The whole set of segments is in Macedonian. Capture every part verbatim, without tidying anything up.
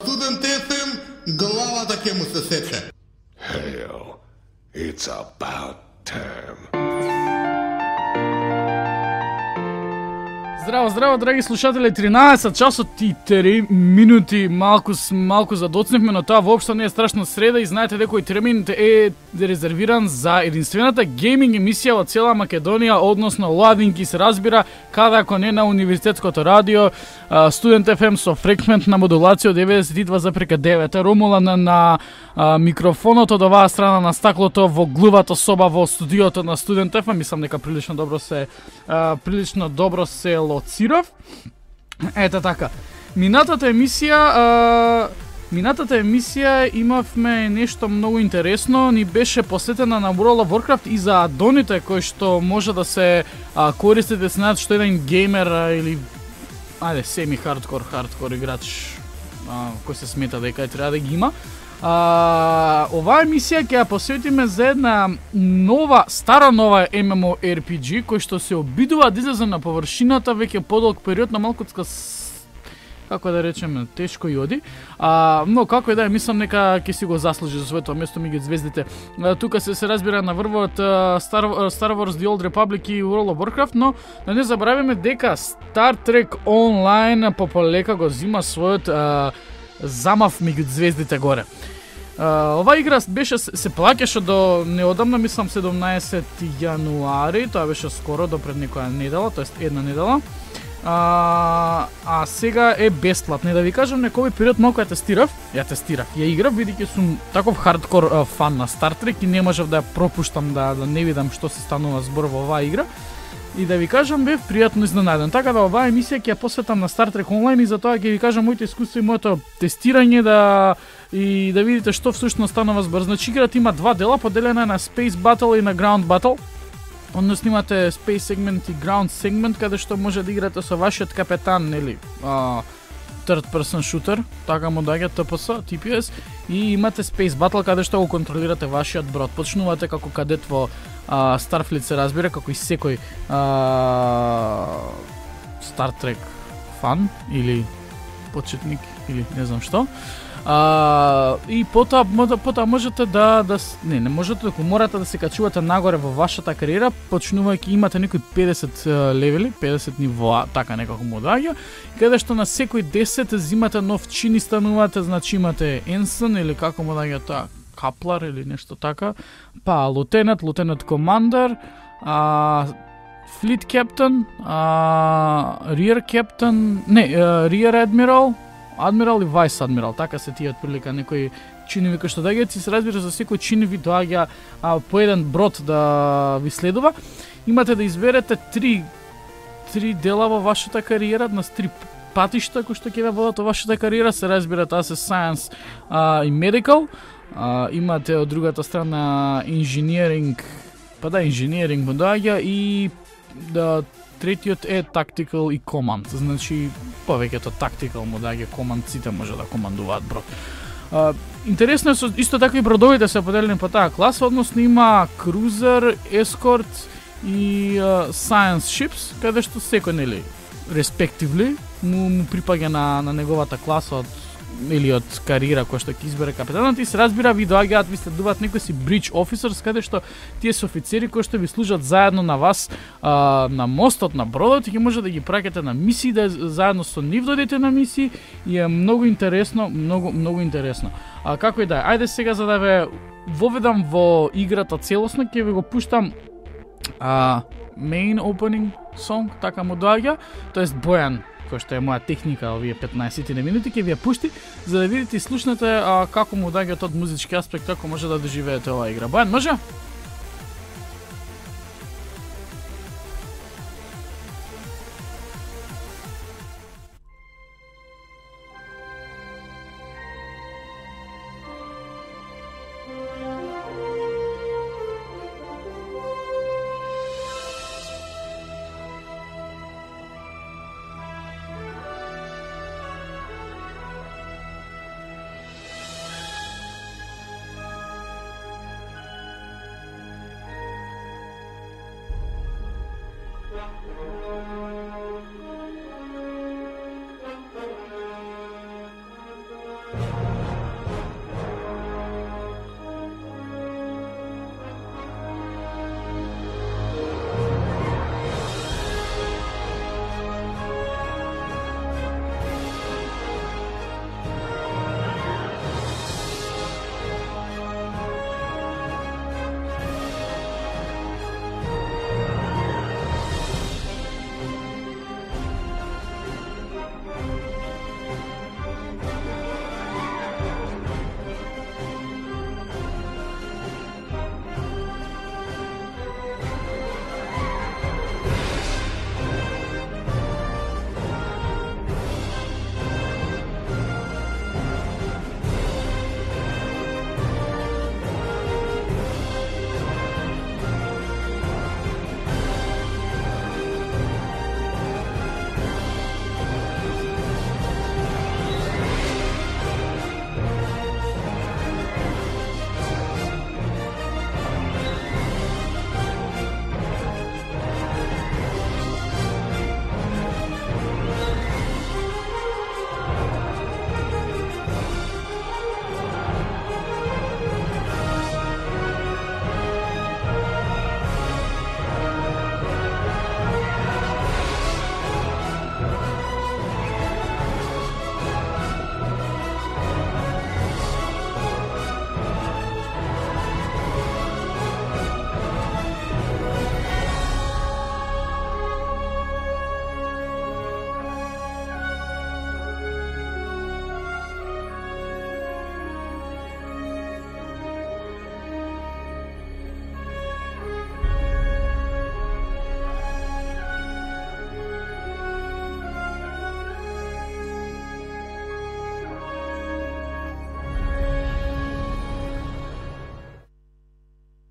Студент еф ем, главата ќе му се сече. Hell, it's about time. Здраво, здраво, драги слушатели, тринаесет часот и три минути, малку малку задоцневме, но тоа воопшто не е страшна среда и знаете дека овој термин е резервиран за единствената гейминг емисија во цела Македонија, односно Ладинки се разбира, каде ако не на Универзитетското радио, Студент еф ем со фреквентна модулација од деветдесет и два запирка девет. Ромулан на, на а, микрофонот од оваа страна на стаклото во глувата соба во студиото на Студент еф ем, мислам дека прилично добро се а, прилично добро се лоцирав. Ете така. Минатата емисија а, Минатата емисија имавме нешто многу интересно, ни беше посветена на World of Warcraft и за адоните кои што може да се а, користите, знаат што еден геймер а, или ајде семи хардкор хардкор играч а, кој се смета дека треба да ги има. А, оваа емисија ќе ја посветиме за една нова, стара нова ем ем о ар пи джи кој што се обидува да излезе на површината веќе подолг период на малкуцка, како да речеме, тешко и оди. А, но како и да е, мислам нека ќе си го заслужи за своето место меѓу звездите. А, тука се се разбира на врвот Star, Star Wars The Old Republic и World of Warcraft, но да не забравиме дека Star Trek Online пополека го зима својот а, замав меѓу звездите горе. Uh, ова игра беше се плаќаше до неодамна, мислам седумнаесети јануари, тоа беше скоро до пред некоја недела, тоест една недела. Uh, а сега е бесплатна. Да ви кажам, некој период малку ја тестирав, ја тестирав, ја играв, бидејќи сум таков хардкор uh, фан на Star Trek и не можев да ја пропуштам да, да не видам што се станува збор во оваа игра. И да ви кажам, бев пријатно изненаден. Така да оваа емисија ќе ја посветам на Star Trek Online и затоа ќе ви кажам моите искуства и моето тестирање да и да видите што всушност станува збор. Значи играта има два дела, поделена на Space Battle и на Ground Battle. Односно имате Space Segment и Ground Segment каде што може да играте со вашиот капетан, нели, а, third person shooter, така му доаѓа Т П С, Т П С, и имате Space Battle каде што го контролирате вашиот брод. Почнувате како кадет во а, Starfleet се разбира, како и секој а, Star Trek фан или почетник или не знам што. А, и потоа потоа можете да да не не можете, ако морате да се качувате нагоре во вашата кариера, почнувајќи имате некои педесет левели, педесет нивоа, така некако му доаѓа, каде што на секој десет зимате нов чин и станувате, значи имате ensign или како му доаѓа тоа, каплар или нешто така, па лутенат, лутенат командер, а флит каптен, а rear captain, не, rear admiral, адмирал и вајс адмирал, така се тие отприлика некои чинови кои што доаѓаат и се разбира за секој чин ви доаѓа а, по еден брод да ви следува. Имате да изберете три три дела во вашата кариера, на три патишта кои што ќе ве водат во вашата кариера, се разбира таа се science а, и medical. А, имате од другата страна инженеринг, па да инженеринг му доаѓа и да третиот е tactical и command, значи повеќето tactical му даѓа, command сите може да командуваат брод. Uh, интересно е со, исто така и бродовите се поделени по таа класа, односно има cruiser, escort и uh, science ships, каде што секој, нели, respectively, му, му припаѓа на, на неговата класа од или од кариера која што ќе избере капетанот и се разбира ви доаѓаат, ви следуваат некои си bridge officers, каде што тие се офицери кои што ви служат заедно на вас а, на мостот на бродот и ќе може да ги праќате на мисии, да заедно со нив додете на мисии и е многу интересно, многу многу интересно. А како и да е, ајде сега за да ве воведам во играта целосно, ќе ви го пуштам а, main opening song, така му доаѓа, тоест Бојан, кој што е моја техника овие петнаесет минути, ќе ви ја пушти за да видите и слушнете а, како му доаѓа од музички аспект, како може да доживеете оваа игра. Бојан, може?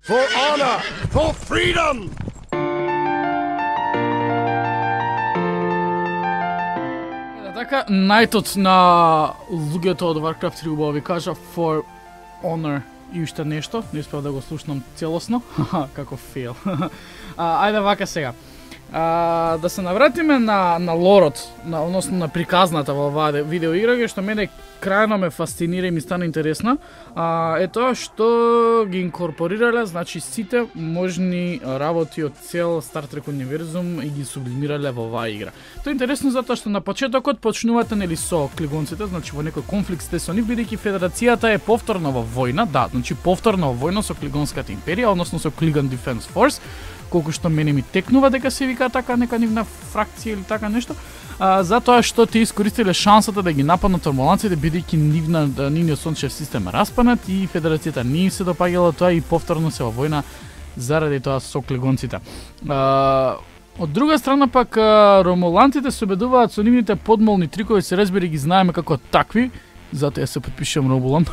For honor! For freedom! Така, најтот на луѓето од Warcraft три убаво ви кажа for honor и уште нешто, не успеав да го слушнам целосно, како фейл. а, ајде вака сега. А, да се навратиме на, на лорот, на, односно на приказната во оваа видеоигра, што мене крајно ме фасцинира и ми стана интересна, а, е тоа што ги инкорпорирале, значи сите можни работи од цел Star Trek универзум и ги сублимирале во оваа игра. Тоа е интересно затоа што на почетокот почнувате нели со клигонците, значи во некој конфликт сте со нив, бидејќи Федерацијата е повторно во војна, да, значи повторно во војна со Клигонската империја, односно со Клигон Defense Force, колку што мене ми текнува дека се вика така нека нивна фракција или така нешто, а, затоа што те искористиле шансата да ги нападнат ромуланците, бидејќи нивна нивниот сончев систем распанат и Федерацијата не им се допаѓало тоа и повторно се во војна заради тоа со клигонците. А, од друга страна пак ромулантите се обедуваат со нивните подмолни трикови, се разбери ги знаеме како такви. Затоа ја се подпишувам Ромулан.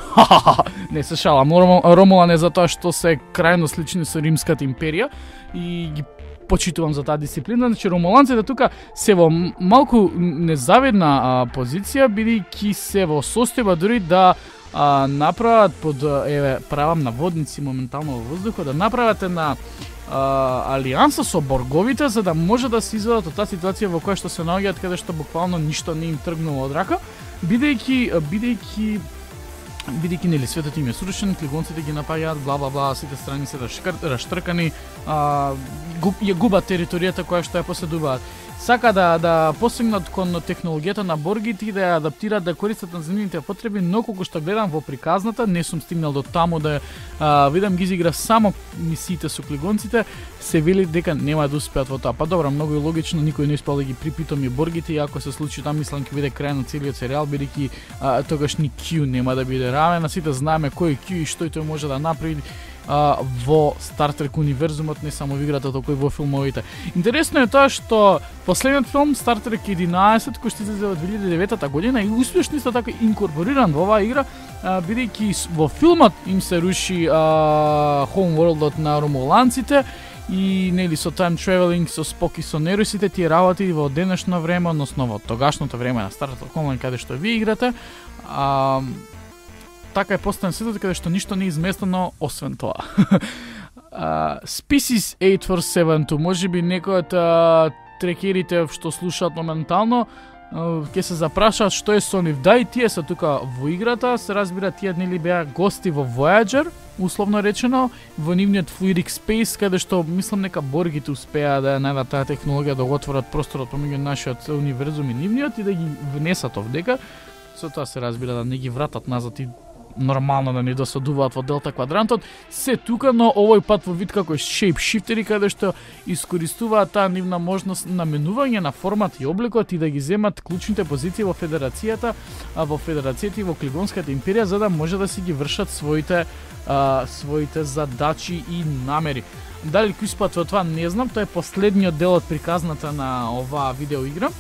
Не се шалам. Ромулан е затоа што се крајно слични со Римската империја и ги почитувам за таа дисциплина. Значи ромуланците тука се во малку незавидна а, позиција, бидејќи се во состојба дури да а, направат под еве правам наводници моментално во воздухот, да направат една а, алијанса со борговите за да може да се извадат од таа ситуација во која што се наоѓаат, каде што буквално ништо не им тргнува од рака. Бидејќи, бидејќи, бидејќи нели светот им е срушен, клигонците ги напаѓаат, бла бла бла, сите страни се раштркани, а, губ, ја губат територијата која што ја поседуваат. Сака да да посегнат кон технологијата на боргите и да ја адаптираат да користат на земјаните потреби, но колку што гледам во приказната, не сум стигнал до таму да а, видам ги изигра само мисиите со клигонците, се вели дека нема да успеат во тоа. Па добро, многу е логично, никој не успел да ги припитоми боргите и ако се случи тоа, мислам ќе биде крај на целиот серијал, бидејќи тогаш ни Q нема да биде равен, а сите знаеме кој е Q и што тој може да направи а, во Star Trek универзумот, не само во играта, току и во филмовите. Интересно е тоа што последниот филм Star Trek единаесет, кој што излезе во две илјади и девета година и успешно исто така инкорпориран во оваа игра, бидејќи во филмот им се руши homeworldот на ромуланците и нели со time traveling, со Спок и со нерусите, тие работи во денешно време, односно во тогашното време на Star Trek Online каде што ви играте, а, така е поставен светот каде што ништо не е изместено освен тоа. uh, Species eight four seven two, можеби некој од uh, трекерите што слушаат моментално ќе се запрашаат што е со нив. Да, и тие се тука во играта, се разбира тие нели беа гости во Voyager, условно речено, во нивниот fluidic space, каде што мислам нека боргите успеа да најдат таа технологија да го отворат просторот помеѓу нашиот универзум и нивниот и да ги внесат овдека. Со тоа се разбира да не ги вратат назад и нормално да не досадуваат во Делта квадрантот, се тука, но овој пат во вид како шейпшифтери, каде што искористуваат таа нивна можност на менување на формат и обликот и да ги земат клучните позиции во Федерацијата, а во Федерацијата и во Клигонската империја, за да може да си ги вршат своите а, своите задачи и намери. Дали ќе успеат во тоа не знам, тоа е последниот дел од приказната на оваа видеоигра.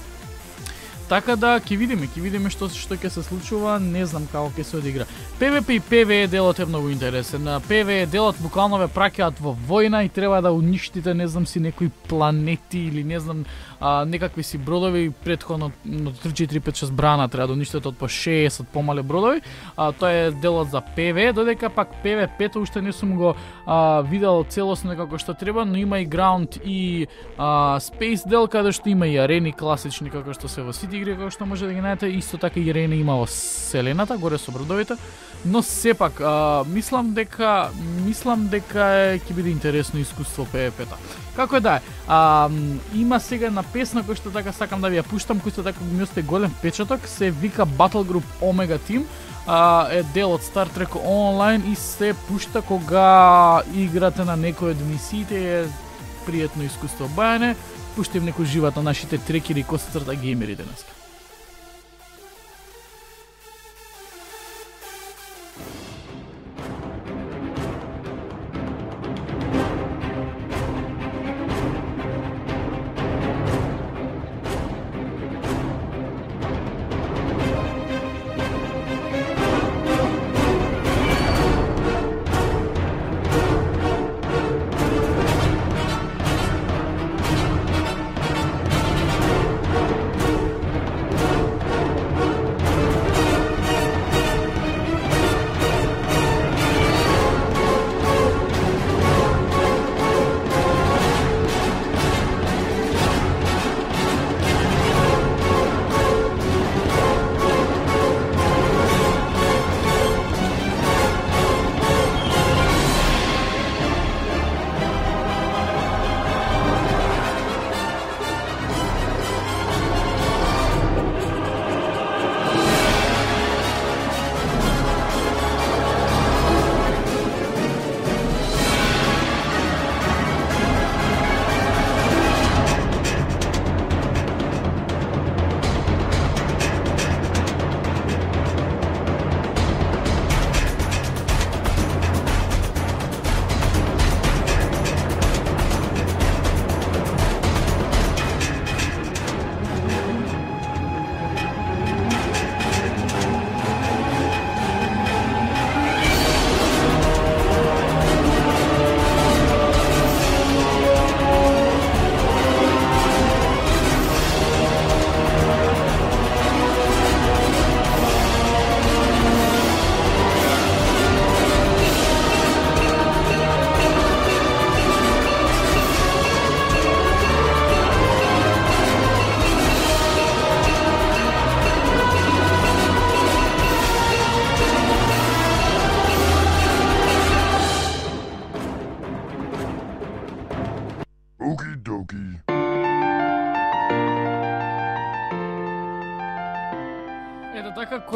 Така да ќе видиме, ќе видиме што што ќе се случува, не знам како ќе се одигра. PvP и PvE делот е многу интересен. На PvE делот буквално ве праќаат во војна и треба да уништите, не знам си некои планети или не знам а, некакви си бродови, претходно три четири пет шест брана треба да уништите од по шеесет помале бродови. А, тоа е делот за PvE, додека пак PvP уште не сум го а, видел целосно како што треба, но има и Ground и а, Space дел каде што има и арени класични како што се во City игри, како што може да ги најдете, исто така и арени има во Вселената, горе со бродовите, но сепак а, мислам дека мислам дека ќе биде интересно искуство PvP-та. Како е да е, а, има сега една песна која што така сакам да ви ја пуштам, кој што така ми остае голем печаток, се вика Battle Group Omega Team, а, е дел од Star Trek Online и се пушта кога играте на некој од мисиите, е пријатно искуство бајане. Пуштим некој живот на нашите трекери и косацрта геймери денеска.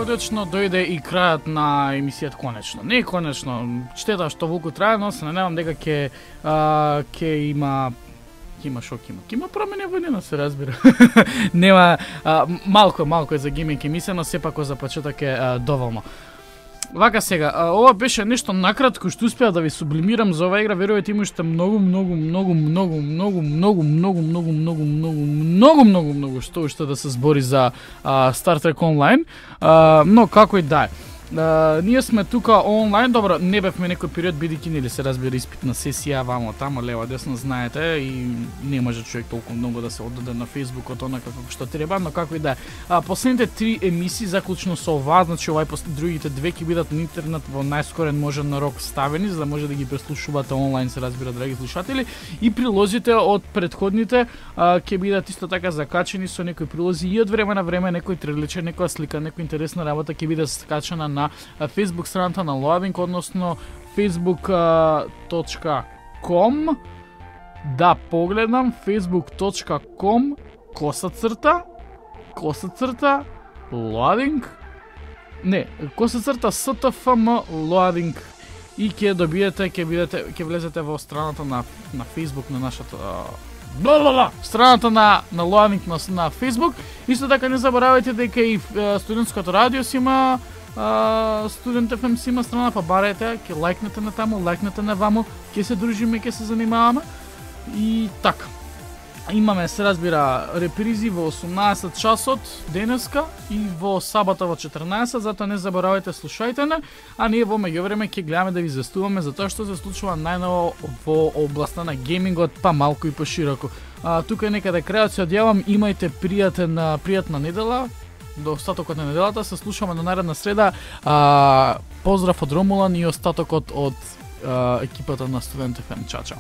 конечно дојде и крајот на емисијата конечно. Не конечно, штета што волку трае, но се надевам дека ќе ќе има ќе има шок, има. Ќе има промени во нена, се разбира. Нема а, малку малку е за гейминг емисија, но сепак за почеток е а, доволно. Вака сега, а, ова беше нешто накратко што успеав да ви сублимирам за оваа игра, верувате има уште многу многу многу многу многу многу многу многу многу многу многу многу многу што уште да се збори за а, Star Trek Online, а, но како и да е. Uh, ние сме тука онлайн, добро, не бевме некој период бидејќи нели се разбира испитна сесија, вамо тамо лево десно знаете и не може човек толку многу да се оддаде на Facebook-от онака како што треба, но како и да е. Uh, последните три емисии заклучно со оваа, значи овај другите две ќе бидат на интернет во најскорен можен рок ставени, за да може да ги преслушувате онлайн, се разбира, драги слушатели, и прилозите од претходните uh, ќе бидат исто така закачени со некои прилози и од време на време некој трейлерче, некоја слика, некоја интересна работа ќе биде скачана на Facebook страната на Loading, односно facebook точка com. Да погледам facebook точка com коса црта коса црта Loading. Не, коса црта stfm Loading и ќе добиете, ќе бидете, ќе влезете во страната на на Facebook на нашата бла бла бла страната на на Loading на на Facebook. Исто така не заборавајте дека и студентското радио си има Uh, Студент еф ем си има страна, па барете, ќе лајкнете на таму, лајкнете на ваму, ќе се дружиме, ќе се занимаваме. И така. Имаме, се разбира, репризи во осумнаесет часот денеска и во сабота во четрнаесет, затоа не заборавајте, слушајте не, а ние во меѓувреме ќе гледаме да ви застуваме за тоа што се случува најново во областа на геймингот, па малку и пошироко. Uh, тука е некаде крајот, се одјавам, имајте пријатен, пријатна недела, до остатокот на неделата, се слушаме на наредна среда. А, поздрав од Ромулан и остатокот од а, екипата на Студент еф ем. Чао, чао.